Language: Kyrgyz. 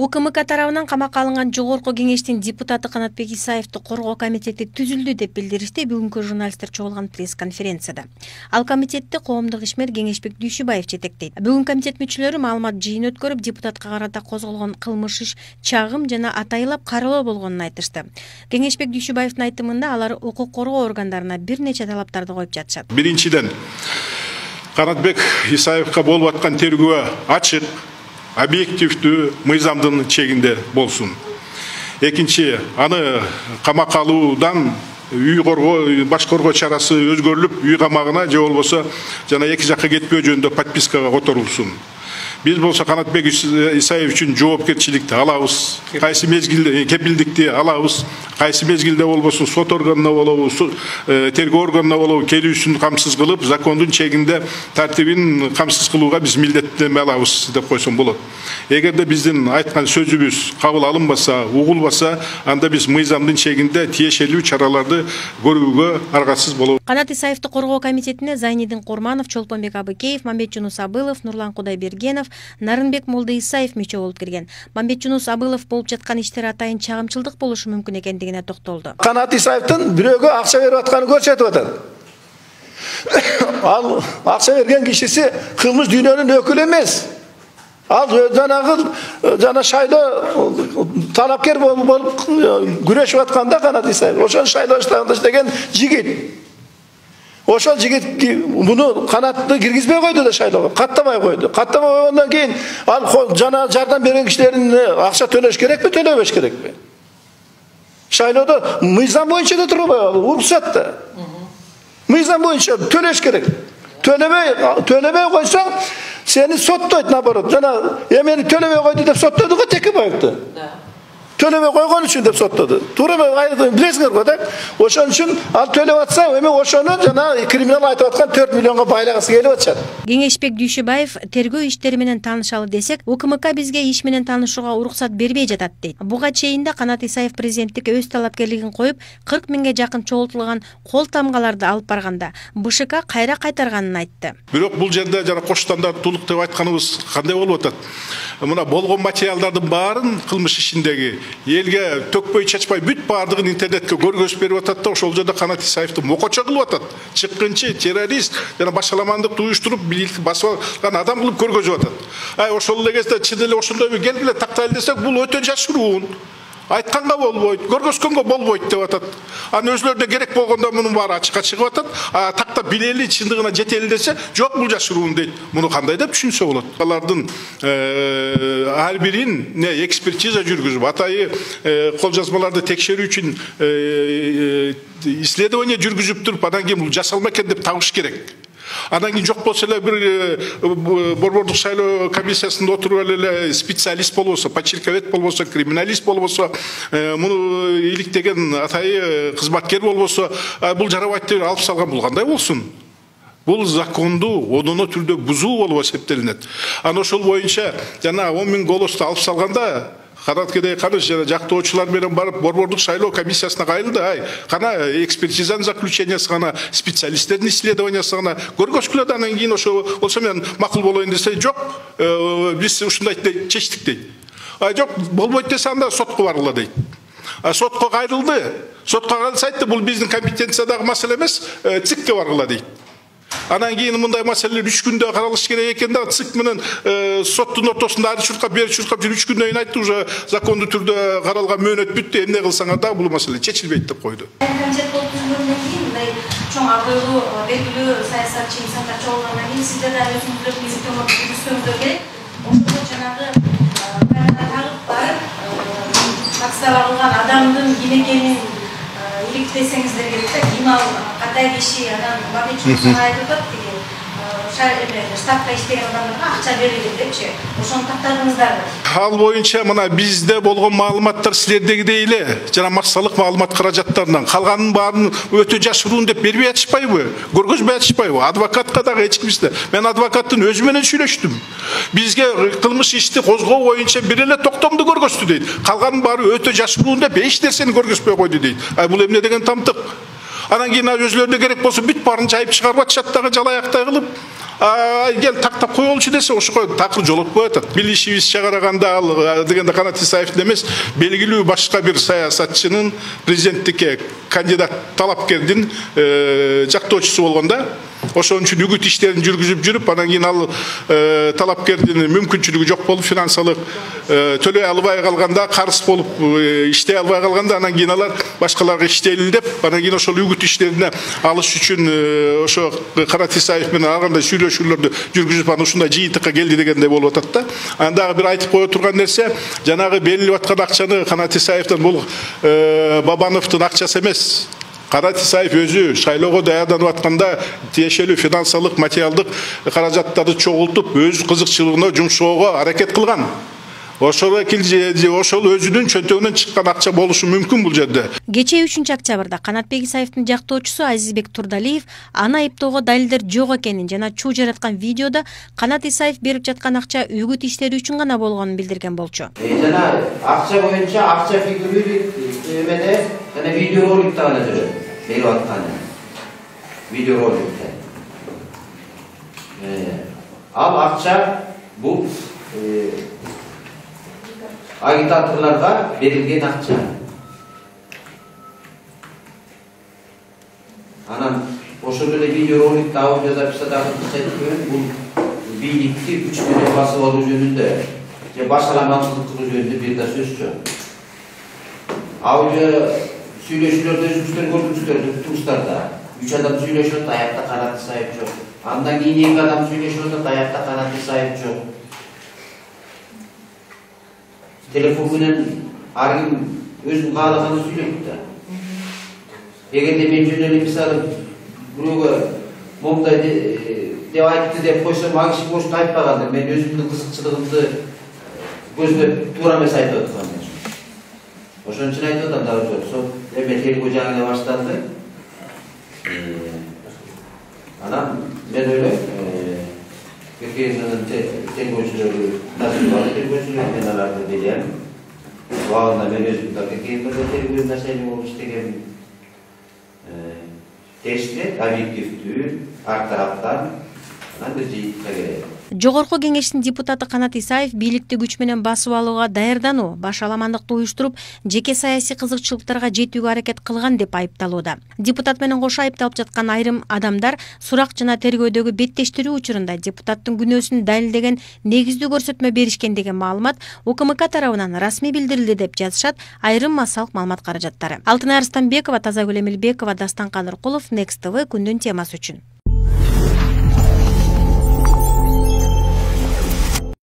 УКМК тарабынан камакка алынган жогорку кеңештин депутаты Канатбек Исаевди коргоо комитети түзүлдү деп билдиришти бүгүнкү журналисттер чогулган пресс-конференцияда. Ал комитетти коомдук ишмер Кеңешбек Дүйшүбаев жетектейт. Бүгүн комитет мүчөлөрү маалымат жыйын өткөрүп, депутатка карата козголгон кылмыш иш чагым жана атайылап каралоо болгонун айтышты. Кеңешбек Дүйшүбаевдин айтымында алар укук коргоо органдарына бир нече талаптарды коюп жатышат. Биринчиден, Канатбек Исаевга болуп аткан тергөө ачык, объективдүү, мыйзамдын чегинде болсун. Экинчи, аны камакка алуудан үй коргоо, баш коргоо чарасы өзгөрүлүп, үй камагына же болбосо жана эки жакка кетпөө жөнүндө подпискага которулсун. Биз болсо Канатбек Исаев үчүн жоопкерчиликти алабыз. Кайсы мезгилде кепилдикти алабыз. Кайсы мезгилде болбосун сот органына болобу, тергөө органына болобу келүүсүн камсыз кылып, закондун чегинде тартибин камсыз кылууга биз милдеттенме алабыз деп койсом болот. Эгерде биздин айткан сөзүбүз кабыл алынбаса, угулбаса, анда биз мыйзамдын чегинде тиешелүү чараларды көрүүгө аргасыз болобуз. Канат Исаевди коргоо комитетине Зайнидин Курманов, Чолпонбек Абыкеев, Мамбетжунус Абылов, Нурлан Кудайбергенов, Нарынбек Молдоисаев мүчө болуп кирген. Мамбетжунус Абылов болуп жаткан иштер атайын чагымчылдык болушу мүмкүн экендигине токтолду. Канат Исаевдин бирөөгө акча берип атканын көрсөтүп атат. Ал акча берген кишиси кылмыш дүйнөнүн өкүлү эмес. Ал жана шайлоо талапкер болуп күрөшүп атканда Канат Исаев ошол шайлоо штабында иштеген жигит. Ошол жигит муну Канатты киргизбей койду да шайлоого, каттабай койду. Каттабай койгондон кийин ал жана жардам берген кишилердин акча төлөш керекпи, төлөбөш керекпи? Шайлоодо мыйзам боюнча да турбай ал, уруксат да. Мыйзам боюнча төлөш керек. Төлөбөй койсоң, сени соттойт наоборот. Жана эмени төлөбөй койду деп соттоду го Текебаевди. Төлөбөй койгон үчүн деп соттоду. Туура билесиңер го да. Ошон үчүн ал төлөп атса, эми ошону жана криминал айтып аткан 4 миллионго байлагысы келип атышат. Кеңешбек Дүйшүбаев тергөө иштери менен таанышалы десек, УКМК бизге иш менен таанышууга уруксат бербей жатат дейт. Буга чейин да Канат Исаев президенттикке өз талапкерлигин коюп, 40 миңге жакын чогултулган кол тамгаларды алып барганда, БШК кайра кайтарганын айтты. Бирок бул жерде жана кош стандарттуулук деп айтканыбыз кандай болуп атат? Мына болгон материалдардын баарын кылмыш ишиндеги элге төкпөй чачпай бүт баардыгын интернетке көргөзүп берип атат да, ошол жерде Канат Исаевди мокочо кылып атат. Чыккынчы, террорист жана башаламандыкты уюштуруп бийликти басып алган адам кылып көргөзүп атат. Ошол эле кезде чын эле ошондой келгиле тактайлы десек, бул өтө жашыруун. Айтканга болбойт, көргөзгөнгө болбойт деп атат. Аны өзлөрүнө керек болгондо мунун баары ачыкка чыгып атат. Тактап билели, чындыгына жетели десе, жок бул жашыруун дейт. Муну кандай деп түшүнсө болот? Алардын ар бирин экспертиза жүргүзүп, атайы кол жазмаларды текшерүү үчүн исследование жүргүзүп туруп, андан кийин бул жасалма экен деп табыш керек. Анан кийин жок болсо эле бир борбордук шайлоо комиссиясында отуруп эле специалист болбосо, подчерковец болбосо, криминалист болбосо, муну иликтеген атайы кызматкер болбосо, бул жарабайт деп алып салган, бул кандай болсун? Бул законду одоно түрдө бузуу болуп эсептелинет. Анан ошол боюнча жана 10 миң голосду алып салганда Канаткедей Каныш жана жактоочулар менен барып борбордук шайлоо комиссиясына кайрылды. Кана экспертизанын заключениясы, кана специалисттердин исследованиясы, кана көргөзгүлө да, анан кийин болсо мен макул болоюн десе, жок, биз ушундай чечтик дейт. Жок, болбойт десе, анда сотко баргыла дейт. Сотко кайрылды. Сотко кайрылса айтты, бул биздин компетенциядагы маселе эмес, ЦИКке баргыла дейт. Анан кийин мындай маселелер 3 күндө каралыш керек экен да, ЦИК менен соттун ортосунда ары чуркап, бери чуркап жүрүп 3 күндөн кийин айтты, уже закондуу түрдө каралган мөөнөт бүттү, эмне кылсаңар да бул маселе чечилбейт деп койду. Комитет болуп түзүлгөндөн кийин мындай чоң абыйлуу, белгилүү саясатчы инсандар чогулгандан кийин сиздер да өзүңүздөр милдеттөө жүргүзсөңүздөр керек. Ошондо жанагы тагып барып, таксаланган адамдын ким экенин иликтесеңиздер керек да, ким ал, кандай киши, анан Мамбетжунус айтып атат деген штабка иштеген адамдарга акча берилет депчи. Ошону тактадыңыздарбы? Ал боюнча мына бизде болгон маалыматтар силердегидей эле жана массалык маалымат каражаттарынан калганын баарын өтө жашыруун деп бербей атышпайбы? Көргөзбөй атышпайбы? Адвокатка дагы эч кимсине. Мен адвокаттын өзү менен сүйлөштүм. Бизге кылмыш ишти козгоо боюнча бир эле токтомду көргөздү дейт. Калганын баары өтө жашыруун деп эч нерсени көргөзбөй койду дейт. Бул эмне деген тамтык? Анан кийин өзлөрүнө керек болсо бүт баарын жайып чыгарып атышат дагы жалаяктай кылып. Гел тактап коелучу десе ошого такыр жолотпой атат. Билишибизче караганда ал дегенде Канат Исаевдин эмес, белгилүү башка бир саясатчынын президенттикке кандидат талапкердин жактоочусу болгон да. Ошон үчүн үгүт иштерин жүргүзүп жүрүп, анан кийин ал талапкердин мүмкүнчүлүгү жок болуп, финансылык төлөй албай калганда, карыз болуп иштей албай калганда, анан кийин алар башкаларга иштейли деп, анан кийин ошол үгүт иштерине алыш үчүн ошо Канат Исаев менен ар кандай сүйлөшүүлөрдү жүргүзүп, анан ушундай жыйынтыкка келди дегендей болуп атат да. Анан дагы бир айтып кое турган нерсе, жанагы берилип аткан акчаны Канат Исаевдин бул Бабановдун акчасы эмес. Канат Исаев өзү шайлоого даярданып атканда тиешелүү финансылык, материалдык каражаттарды чогултуп, өз кызыкчылыгына жумшоого аракет кылган. Ошол өзүнүн чөнтөгүнөн чыккан акча болушу мүмкүн бул жерде. Кечээ 3-октябрда Канатбек Исаевдин жактоочусу Азизбек Турдалиев аны айыптоого далилдер жок экенин жана чуу жараткан видеодо Канат Исаев берип жаткан акча үгүт иштери үчүн гана болгонун билдирген болчу. Жана акча боюнча акча фигуралык эмеде жана видеороликте гана жүрөт. Берип атканы. Видеороликте. Ал акча бул агитаторларга берилген акча. Анан ошол эле видеороликте аудиозаписьтагы бул бийликти күч менен басып алуу жөнүндө же башаламандык кылуу жөнүндө бир да сөз жок. Аудио сүйлөшүүлөрдө өзүңүздөр көрдүңүздөр туустарда 3 адам сүйлөшүп атат, аякта Канат Исаев жок. Андан кийин 2 адам сүйлөшүп атат, аякта Канат Исаев жок. Телефон менен ар ким өзүнүн каалаганын сүйлөйт да. Эгерде мен жөн эле мисалы бирөөгө момундай деп айтты деп койсом, ал киши ошентип айтпаган, мен өзүмдүн кызыкчылыгымды көздөп туура эмес айтып аткам. Ошон үчүн айтып атам да, сол эме тергөө жаңы башталды. Анан мен ойлойм, тергөөчүлөрү мен аларды билем. Убагында мен өзүм да тергөө маселе болуп иштегем. Тештеп, объективдүү, ар тараптан анан бир жыйынтыкка келет. Жогорку кеңештин депутаты Канат Исаев бийликти күч менен басып алууга даярдануу, башаламандыкты уюштуруп, жеке саясий кызыкчылыктарга жетүүгө аракет кылган деп айыпталууда. Депутат менен кошо айыпталып жаткан айрым адамдар сурак жана тергөөдөгү беттештирүү учурунда депутаттын күнөөсүн далилдеген негиздүү көрсөтмө беришкен деген маалымат УКМК тарабынан расмий билдирилди деп жазышат айрым массалык маалымат каражаттары. Алтынай Арстанбекова, Тазагүл Эмилбекова, Дастан Каныркулов, Next TV күндүн темасы үчүн.